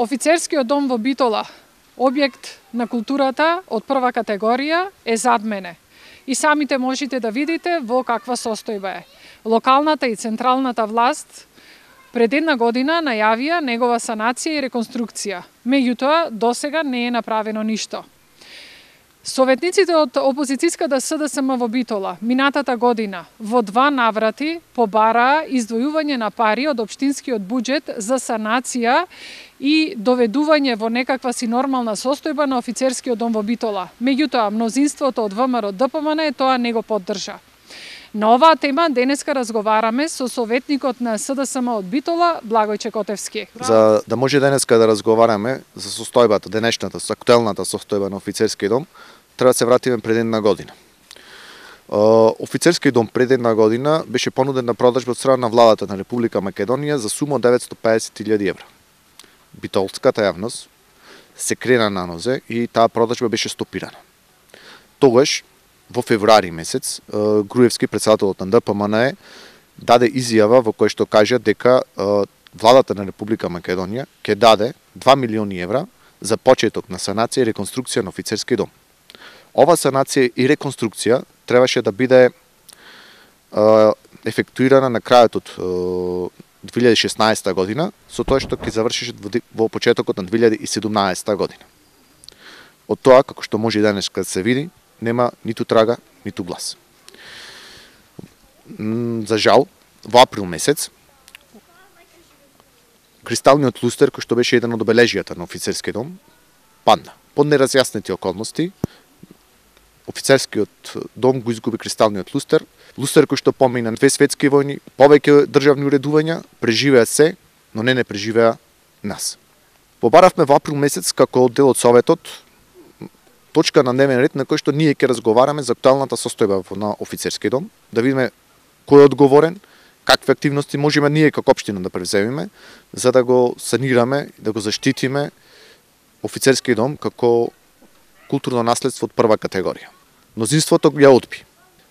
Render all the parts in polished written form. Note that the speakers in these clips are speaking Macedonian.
Офицерскиот дом во Битола, објект на културата од прва категорија, е зад мене. И самите можете да видите во каква состојба е. Локалната и централната власт пред една година најавија негова санација и реконструкција. Меѓутоа, досега не е направено ништо. Советниците од опозицијската СДСМ во Битола минатата година во 2 наврати побараа издвојување на пари од општинскиот буџет за санација и доведување во некаква си нормална состојба на офицерскиот дом во Битола. Меѓутоа, мнозинството од ВМРО ДПМН тоа не го поддржа. На оваа тема денеска разговараме со советникот на СДСМ од Битола, Благој Чекотевски. За да може денеска да разговараме за состојбата, денешната, актуелната состојба на офицерскиот дом, треба да се вратиме пред една година. Офицерскиот дом пред една година беше понуден на продажба од страна на владата на Република Македонија за сума од 950.000 евра. Битолската јавност се крена на нозе и таа продажба беше стопирана. Тогаш, во февруари месец, Груевски, председателот на ДПМН, даде изјава во која што кажа дека владата на Република Македонија ќе даде 2 милиони евра за почеток на санација и реконструкција на офицерски дом. Ова санација и реконструкција требаше да биде ефектуирана на крајот од 2016 година, со тоа што ќе завршише во почетокот на 2017 година. Од тоа, како што може и денес да се види, нема ниту трага, ниту глас. За жал, во април месец, кристалниот лустер, кој што беше еден од обележијата на офицерскиот дом, падна. Под неразјаснети околности, офицерскиот дом го изгуби кристалниот лустер, лустер кој што помина 2 светски војни, повеќе државни уредувања, преживеа се, но не преживеа нас. Побаравме во април месец како дел од Советот точка на дневен ред на кој што ние ќе разговараме за актуелната состојба на офицерскиот дом, да видиме кој е одговорен, какви активности можеме ние како општина да превземеме, за да го санираме, да го заштитиме офицерскиот дом како културно наследство од прва категорија. Мнозинството ја одби.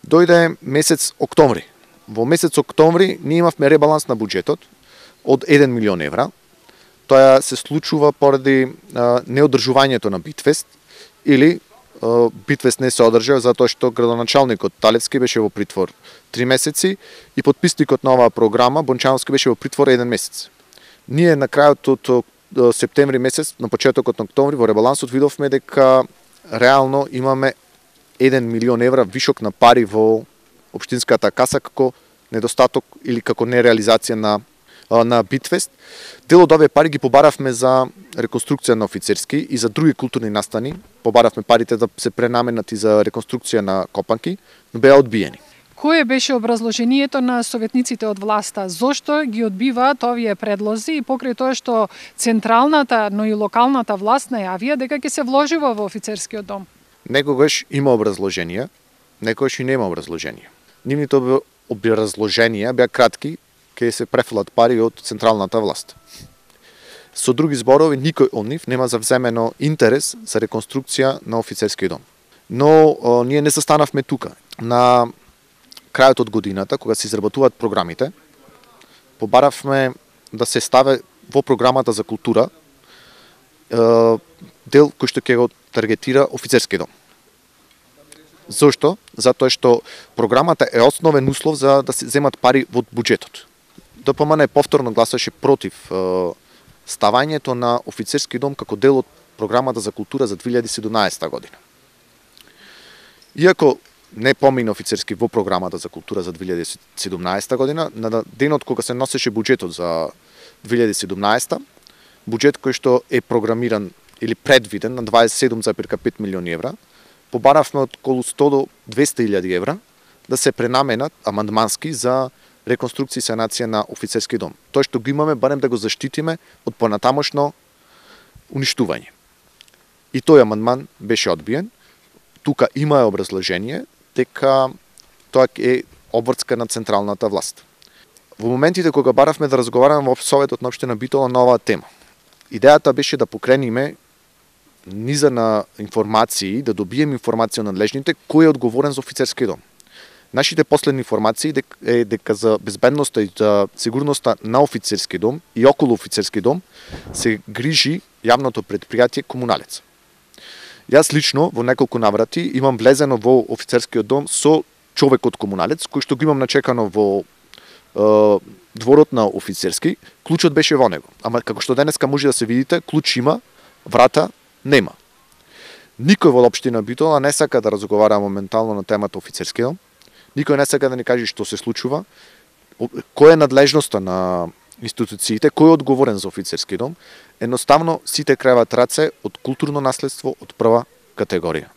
Дојде месец октомври. Во месец октомври ние имавме ребаланс на буџетот од 1 милион евра. Тоа се случува поради неодржувањето на Битфест, или Битфест не се одржа затоа што градоначалникот Талевски беше во притвор 3 месеци и подписникот на оваа програма Бончановски беше во притвор 1 месец. Ние на крајот од септември месец, на почетокот на октомври, во ребалансот видовме дека реално имаме 1 милион евра вишок на пари во општинската каса како недостаток или како нереализација на Битфест. Дел од овие пари ги побаравме за реконструкција на офицерски и за други културни настани. Побаравме парите да се пренаменат и за реконструкција на копанки, но беа одбиени. Кое беше образложението на советниците од власта? Зошто ги одбиваат овие предлози и покрај тоа што централната, но и локалната власт најавија дека ќе се вложува во офицерскиот дом? Некогаш има образложенија, некогаш и нема образложенија. Нивните образложенија беа кратки, ќе се префрлат пари од централната власт. Со други зборови, никој од нив нема завземено интерес за реконструкција на офицерскиот дом. Но ние не застанавме тука. На крајот од годината, кога се изработуваат програмите, побаравме да се ставе во програмата за култура дел кој што ќе го таргетира офицерскиот дом. Зошто? Затоа што програмата е основен услов за да се земат пари од буџетот. ДПМН повторно гласаше против ставањето на офицерски дом како дел од програмата за култура за 2017 година. Иако не помина офицерски во програмата за култура за 2017 година, на денот кога се носеше буџетот за 2017, буџет кој што е програмиран или предвиден на 27,5 милиони евра, побаравме од околу 100 до 200.000 евра да се пренаменат амандмански за реконструкција и санација на офицерски дом. Тоа што го имаме, барем да го заштитиме од понатамошно уништување. И тој амандман беше одбиен. Тука има образложение дека тоа е обврска на централната власт. Во моментите кога баравме да разговараме во Советот на општина Битола на оваа тема, идејата беше да покрениме низа на информации, да добиеме информација од надлежните кој е одговорен за офицерски дом. Нашите последни информации е дека за безбедноста и за сигурноста на офицерски дом и околу офицерски дом се грижи јавното предпријатие Комуналец. Јас лично во неколку наврати имам влезено во офицерскиот дом со човек од Комуналец, кој што го имам начекано во дворот на офицерски, клучот беше во него. Ама како што денеска може да се видите, клуч има, врата нема. Никој во општина Битола не сака да разговара моментално на темата офицерски дом. Никој не сака да ни каже што се случува, која е надлежноста на институциите, кој е одговорен за офицерски дом. Едноставно сите креват раце од културно наследство од прва категорија.